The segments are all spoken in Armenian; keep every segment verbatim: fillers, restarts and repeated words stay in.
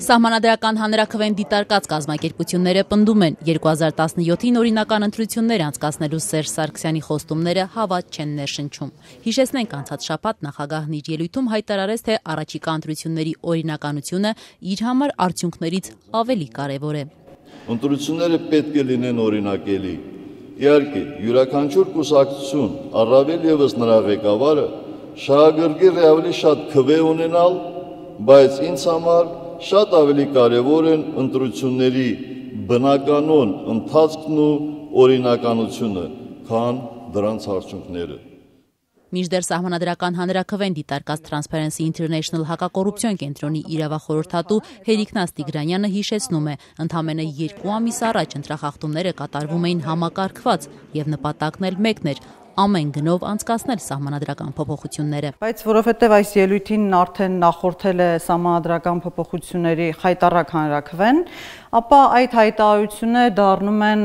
Սահմանադրական հանրաքվեն դիտարկած կազմակերպությունները պնդում են երկու հազար տասնյոթին օրինական ընտրություններ անցկացնելու Սերժ Սարգսյանի խոստումները հավատ չեն ներշնչում։ Հիշեցնենք, անցած շաբաթ նախագահն իր ելույթում հայտարարեց, թե առաջիկա ընտրությունների օրինականությունը իր համար արդյունքներից ավելի կարևոր է։ Ընտրությունները պետք է լինեն օրինակելի։ Իհարկե, յուրաքանչյուր կուսակցություն, առավել ևս նրա ղեկավարը, շահագրգիռ է ավելի շատ քվե ունենալ, բայց ինձ համար շատ ավելի կարևոր են ընտրությունների բնականոն ընթացքն ու օրինականությունը, քան դրանց արդյունքները։ Մինչդեռ Սահմանադրական հանրաքվեն դիտարկած Transparency International հակակոռուպցիոն կենտրոնի իրավախորհրդատու Հերիկնաս Տիգրանյանը հիշեցնում է, ընդամենը երկու ամիս առաջ ընտրախախտումները կատարվում էին համակարգված եւ նպատակն էլ մեկն էր՝ ամեն գնով անցկացնել սահմանադրական փոփոխությունները։ Բայց որովհետև այս ելույթին արդեն նախորդել է սահմանադրական փոփոխությունների խայտառակ հանրաքվեն, ապա այդ հայտարարությունը դառնում են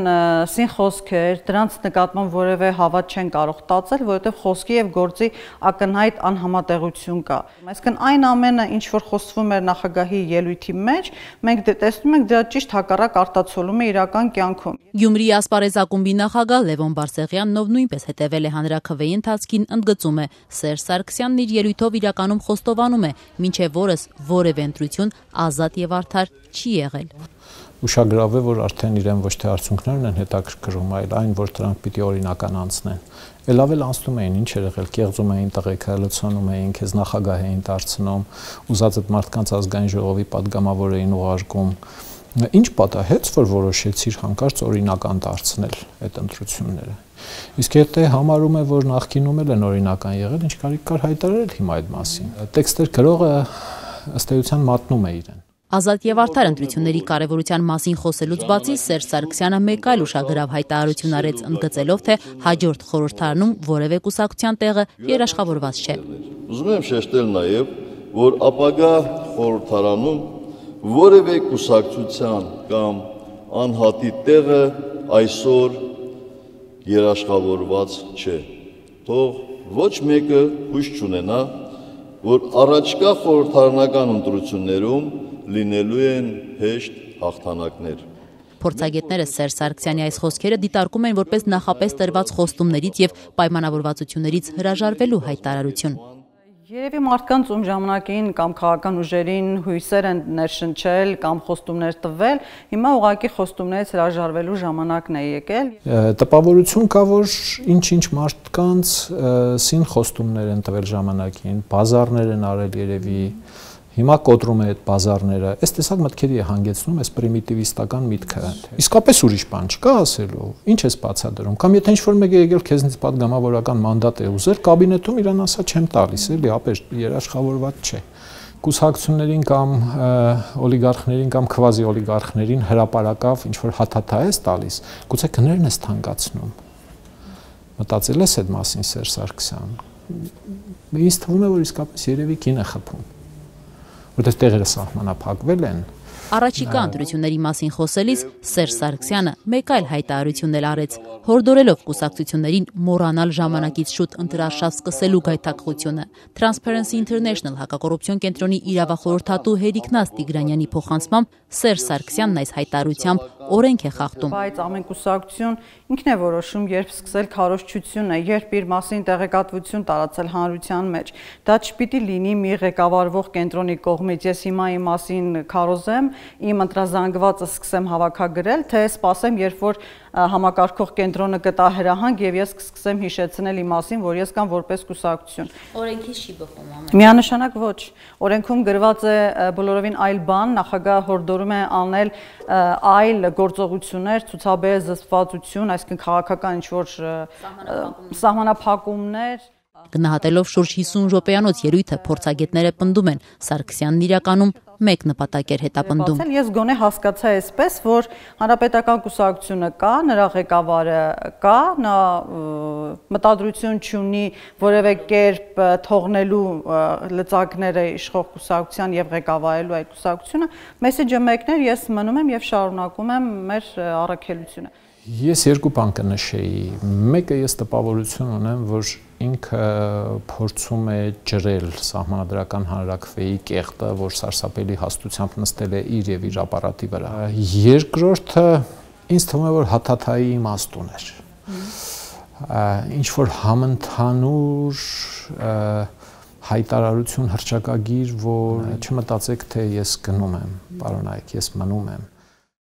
սինխոսքեր, դրանց նկատմամբ որևէ հավատ չեն կարող տածել, որովհետև խոսքի եւ գործի ակնհայտ անհամատեղություն կա։ Այսինքն այն ամենը, ինչ որ խոսվում էր նախագահի ելույթի մեջ, մենք տեսնում ենք դրա ճիշտ հակառակ արտացոլում է իրական կյանքում։ Գյումրիի ասպարեզ ակումբի նախագահ Լևոն Բարսեղյանն, ով նույնպես հետևել է հանրաքվեի ընթացքին, ընդգծում է, Սերժ Սարգսյանն իր ելույթով իրականում խոստովանում է, մինչև օրս որևէ ընտրություն ազատ եւ արդար չի եղել։ Ուշագրավ է, որ արդեն իրեն ոչ թե արդյունքներն են հետաքրքրում, այլ այն, որ դրանք պիտի օրինական անցնեն։ Էլ ավել անցնում էին, ինչ էր եղել, կեղծում էին տղեկը, լցոնում էին, քեզ նախագահ էին դարձնում, ուզած այդ մարդկանց ազգային ժողովի падգամավոր էին ուղարկում։ Ինչ պատահեց, որ որոշեցիր հանկարծ օրինական դարձնել այդ ընտրությունները։ Իսկ եթե համարում է, որ նախկինում էլ են օրինական եղել, ինչ կարիք կար հայտարարել հիմա այդ մասին։ Տեքստեր գրողը ըստ էության մատնում է իրեն։ Ազատ եւ արդար ընտրությունների կարևորության մասին խոսելուց բացի Սերժ Սարգսյանը մեկ այլ ուշագրավ հայտարարություն արեց, ընդգծելով, թե հաջորդ խորհրդարանում որևէ կուսակցության տեղը երաշխավորված չէ։ Ուզում եմ շեշտել նաեւ, որ ապագա խորհրդարանում որևէ կուսակցության կամ անհատի տեղը այսօր երաշխավորված չէ։ Թող ոչ մեկը հույս չունենա, որ առաջկա խորհրդարանական ընտրություններում լինելու են հեշտ հաղթանակներ։ Փորձագետները Սերժ Սարգսյանի այս խոսքերը դիտարկում են որպես նախապես տրված խոստումներից եւ պայմանավորվածություններից հրաժարվելու հայտարարություն։ Երևի մարդկանց ում ժամանակին կամ քաղաքական ուժերին հույսեր են ներշնչել կամ խոստումներ տվել, հիմա ուղղակի խոստումներից հրաժարվելու ժամանակն է եկել։ Տպավորություն կա, որ ինչ-ինչ մարդկանց սին խոստումներ են տվել ժամանակին, բազարներ են արել երևի, հիմա կոտրում է այդ բազարները, այս տեսակ մտքերի է հանգեցնում այս պրիմիտիվիստական միտքը։ Իսկապես ուրիշ բան չկա ասելու, ինչ ես բացատրում, կամ եթե ինչ-որ մեկը եկել քեզնից падգամավորական մանդատ է ուզել, կաբինետում իրան ասա չեմ տալիս, էլի, ապեր երաշխավորված չէ։ Կուսակցություններին կամ օլիգարխներին կամ քվազի օլիգարխներին հրապարակավ ինչ-որ հաթաթա ես տալիս, գուցե գներն ես թանկացնում։ Մտածել ես այդ մասին Սերժ Սարգսյան։ Ինձ թվում է, որ իսկապես երևի կին է խփում։ Որտեղ տեղերը սահմանափակվել են։ Առաջիկա ընտրությունների մասին խոսելիս Սերժ Սարգսյանը մեկ այլ հայտարարություն էլ արեց, հորդորելով կուսակցություններին մոռանալ ժամանակից շուտ ընտրարշավ սկսելու գայթակղությունը։ Transparency International հակակոռուպցիոն կենտրոնի իրավախորհրդատու Հերիկնաս Տիգրանյանի փոխանցմամբ Սերժ Սարգսյանն այս հայտարարությամբ օրենք է խախտում։ Բայց ամեն կուսակցություն ինքն է որոշում, երբ սկսել քարոզչությունը, երբ իր մասին տեղեկատվություն տարածել հանրության մեջ։ Դա չպիտի լինի մի ղեկավարվող կենտրոնի կողմից, ես հիմա իմ մասին քարոզեմ, իմ ընտրազանգվածը սկսեմ հավաքագրել, թե սպասեմ, երբ որ համակարգող կենտրոնը կտա հրահանգ եւ ես կսկսեմ հիշեցնել իմ մասին, որ ես կամ որպես կուսակցություն։ Օրենքից չի բխում ամեն։ Միանշանակ ոչ։ Օրենքում գրված է բոլորովին այլ բան, նախագահը հորդորում է անել այլ գործողություններ, ցուցաբերել զսպվածություն, այսինքն քաղաքական ինչ-որ սահմանափակումներ։ Գնահատելով շուրջ հիսուն րոպեանոց ելույթը փորձագետները պնդում են, Սարգսյանն իրականում մեկ նպատակ էր հետապնդում։ Ես գոնե հասկացա այսպես, որ հանրապետական կուսակցությունը կա, նրա ղեկավարը կա, նա մտադրություն չունի որևէ կերպ թողնելու լծակները իշխող կուսակցության եւ ղեկավարելու այդ կուսակցությունը, մեսեջը մեկն էր, ես մնում եմ եւ շարունակում եմ մեր առաքելությունը։ Ես երկու բան կնշեի։ Մեկը ես տպավորություն ունեմ, որ ինքը փորձում է ջրել Սահմանադրական հանրաքվեի կեղտը, որ սարսափելի հաստությամբ նստել է իր եւ իր ապարատի վրա։ Երկրորդը ինձ թվում է, որ հաթաթայի իմաստուն էր։ Ինչ որ համընդհանուր հայտարարություն հռչակագիր, որ չմտածեք, թե ես գնում եմ, պարոնայք, ես մնում եմ։